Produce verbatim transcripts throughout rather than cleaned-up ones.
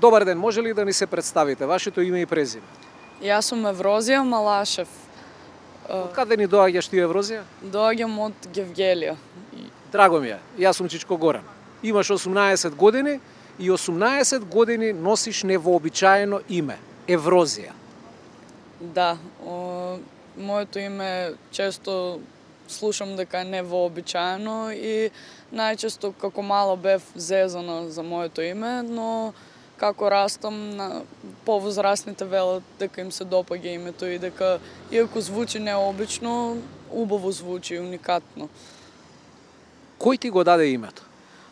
Добар ден, може ли да ни се представите, вашето име и презиме? Јас сум Еврозија Малашев. Од каде ни доаѓаш ти, Еврозија? Доаѓам од Гевгелија. Драго ми е, јас сум Чичко Горан. Имаш осумнаесет години и осумнаесет години носиш невообичаено име, Еврозија. Да, о, моето име често слушам дека е невообичаено и најчесто како мала бев зезана за моето име, но како растам, на повозрастните велат дека им се допаѓа името и дека, иако звучи необично, убаво звучи, уникатно. Кој ти го даде името?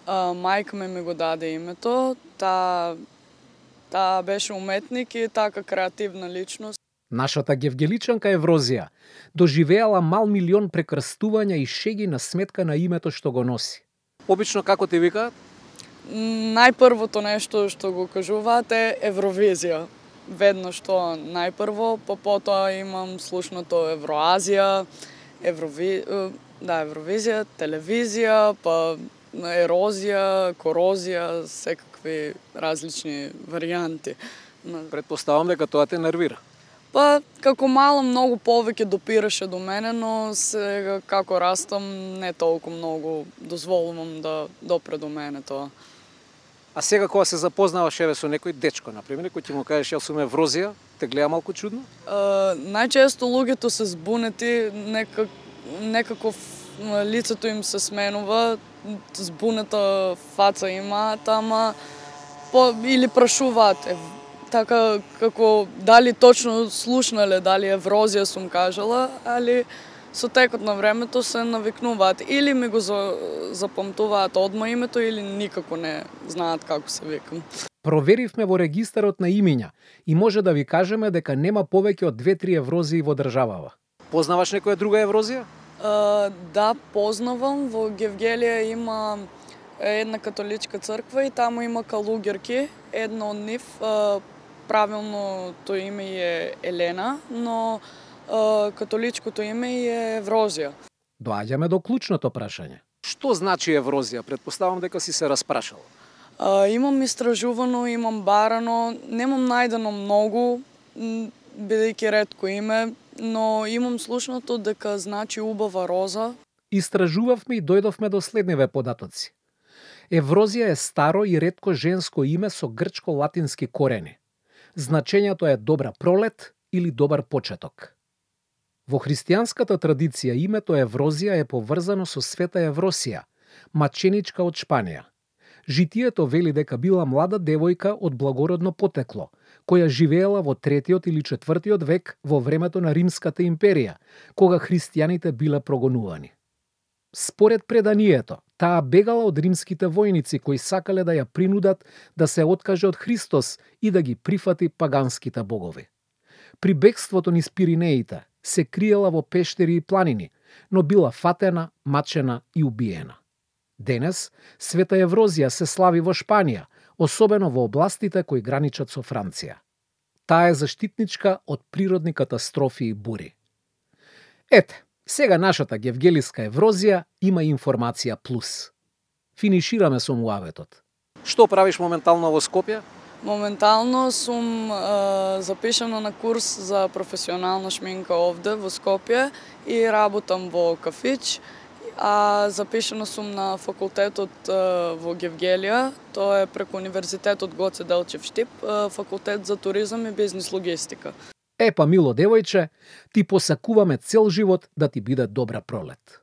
А, мајка ми ми го даде името, таа та беше уметник и така креативна личност. Нашата гевгеличанка Еврозија доживеала мал милион прекрстувања и шеги на сметка на името што го носи. Обично како ти викаат? Најпрвото нешто што го кажуваат е Евровизија. Веднаш тоа најпрво, па потоа имам слушнато Евроазија, Еврови... да, Евровизија, телевизија, па ерозија, корозија, секакви различни варијанти. Предпоставам дека тоа те нервира. Па, како мала многу повеќе допираше до мене, но сега како растам не толку многу дозволувам да допре до мене тоа. А сега кога се запознаваш еве со некој дечко, например, кој ќе му кажеш јас сум Еврозија, те гледа малку чудно? Uh, најчесто луѓето се збунети, некак, некако лицето им се сменува, збунета фаца имаат, ама по, или прашуваат, е, така како дали точно слушнале, дали Еврозија сум кажала, али со текот на времето се навикнуваат или ми го запамтуваат одма името или никако не знаат како се викам. Проверивме во регистарот на имиња и може да ви кажеме дека нема повеќе од две-три Еврозии во државава. Познаваш некоја друга Еврозија? Uh, да, познавам. Во Гевгелија има една католичка црква и таму има калуѓерки. Една од нив, uh, правилното име е Елена, но uh, католичкото име е Еврозија. Доаѓаме до клучното прашање. Што значи Еврозија? Предпоставам дека си се распрашал. Uh, имам истражувано, имам барано, немам најдено многу, бидејќи ретко име, но имам слушнато дека значи убава роза. Истражувавме и дојдовме до следниве податоци. Еврозија е старо и ретко женско име со грчко-латински корени. Значењето е добра пролет или добар почеток. Во христијанската традиција името Еврозија е поврзано со света Евросија, маченичка од Шпанија. Житието вели дека била млада девојка од благородно потекло, која живеела во третиот или четвртиот век во времето на Римската империја, кога христијаните биле прогонувани. Според преданието, таа бегала од римските војници кои сакале да ја принудат да се откаже од Христос и да ги прифати паганските богови. При бегството низ Пиринеите се криела во пештери и планини, но била фатена, мачена и убиена. Денес, света Еврозија се слави во Шпанија, особено во областите кои граничат со Франција. Таа е заштитничка од природни катастрофи и бури. Ете, сега нашата гевгелиска Еврозија има информација плюс. Финишираме со муаветот. Што правиш моментално во Скопје? Моментално сум е, запишана на курс за професионална шминка овде во Скопје и работам во кафич. А запишана сум на факултетот е, во Гевгелија, тоа е преку Универзитетот Гоце Делчев Штип, е, факултет за туризам и бизнис логистика. Епа, мило девојче, ти посакуваме цел живот да ти биде добра пролет.